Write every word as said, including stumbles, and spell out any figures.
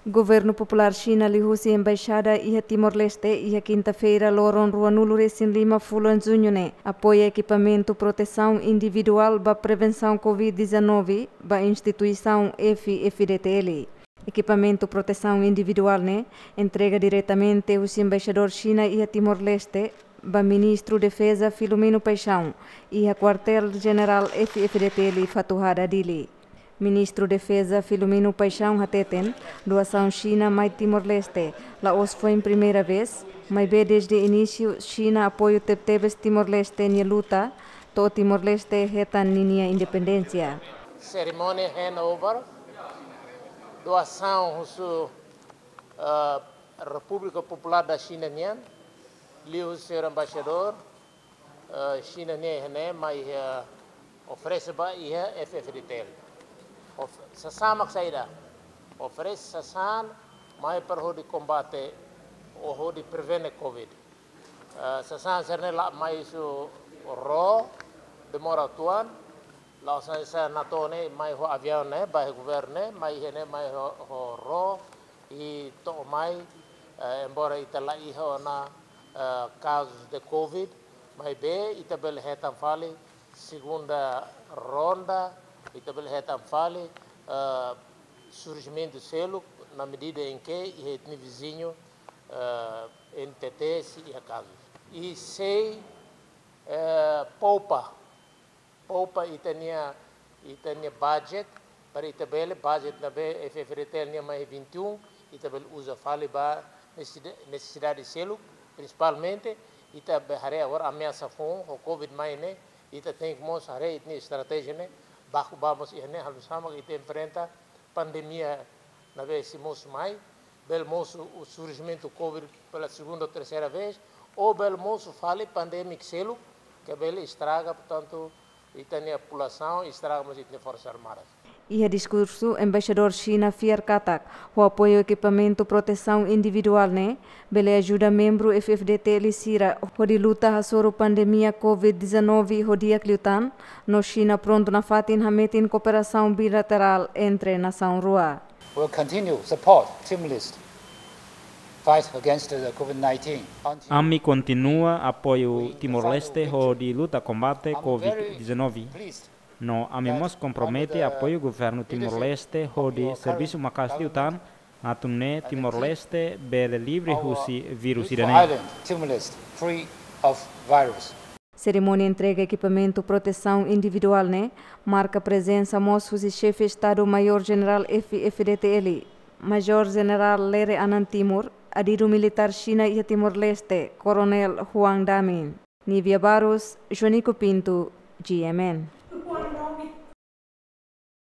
Governu Populár Xina liuhusi Embaixada iha Timor-Leste iha kinta-feira loron ruanulu resin lima fulan Juñu ne'e apoia ekipamentu protesaun individuál ba prevensaun covid dezanove ba instituisaun F-FDTL. Ekipamentu protesaun individuál ne'e entrega diretamente husi Embaixadór Xina iha Timor-Leste ba Ministru Defeza Filomeno Paixão iha Kuartél Jenerál F-FDTL Fatuhada, Dili. Ministru Defeza Filomeno Paixão hateten, doasaun Xina mai Timor-Leste la'ós foin primeira vez, maibé dezde inísiu Xina apoiu tebetebes Timor-Leste nia luta to'o Timor-Leste hetan ninia independénsia. Serimónia handover doasaun husi, ah, Repúblika Populár da Xina nian, liuhusi señór embaixadór, eh, Xina nian iha ne'e mai, eh, oferese ba iha F-FDTL. Of-, sasán mak saida? Oferese sasán mai para hodi kombate ou hodi prevene covid. Eh, sasán sira-ne'e la'o mai husi ró, demora uitoan, la'o sai sa na to ne'e mai ho aviaun ne'e, ba iha governu ne'e, mai iha ne'e mai ho, ho ró, i to'o mai, eh, embora ita la iha ona, eh, kazus de covid, maibé ita bele hetan fali segunda ronda, ita bele hetan fali, eh, surjimentu seluk na medida em que iha ita-nia viziñu, eh, N T T sei iha kazus. I sei, eh, poupa, poupa ita-nia, ita-nia budget, para ita bele budget ne'ebé F-FDTL nian mai vinte e um, ita bele uza fali ba nesesida-, nesesidade seluk, prinsipalmente ita be haree agora ameasa foun ho covid mai ne'e, ita tenke mós haree ita-nia estratéjia ne'e, baku ba mós iha ne'e, halo sama ita enfrenta pandemia ne'ebé sei mosu mai, bele mosu o surjimentu covid pela segunda ou terceira vez, ou bele mosu fali pandemia seluk, ke bele estraga, portantu, ita-nia populasaun, estraga mós ita-nia Forsas Armadas. Iha diskursu, Embaixadór Xina fiar katak, ho apoiu ekipamentu protesaun individuál ne'e, bele ajuda membru F-FDTL sira hodi luta hasoru pandemia covid dezanove ho di'ak liután, no Xina prontu nafatin hametin kooperasaun bilaterál entre nasaun rua. Will continue support Timor-Leste fight against the covid nineteen until Ami kontinua apoiu Timor-Leste hodi luta kombate covid dezanove. No ami mós kompromete apoiu governu Timor-Leste hodi servisu maka'as liután atu nune'e Timor-Leste bele livre husi vírus ida-ne'e. Island, Timor-Leste, free of virus. Serimónia entrega ekipamentu protesaun individuál ne'e marka prezensa mós husi Xefe Estadu Maiór Jenerál F-FDTL, Majór Jenerál Lere Anan Timur, adidu militár Xina iha Timor-Leste, Koronél Huang Damin. Nívia Barros, Joanico Pinto, G M N.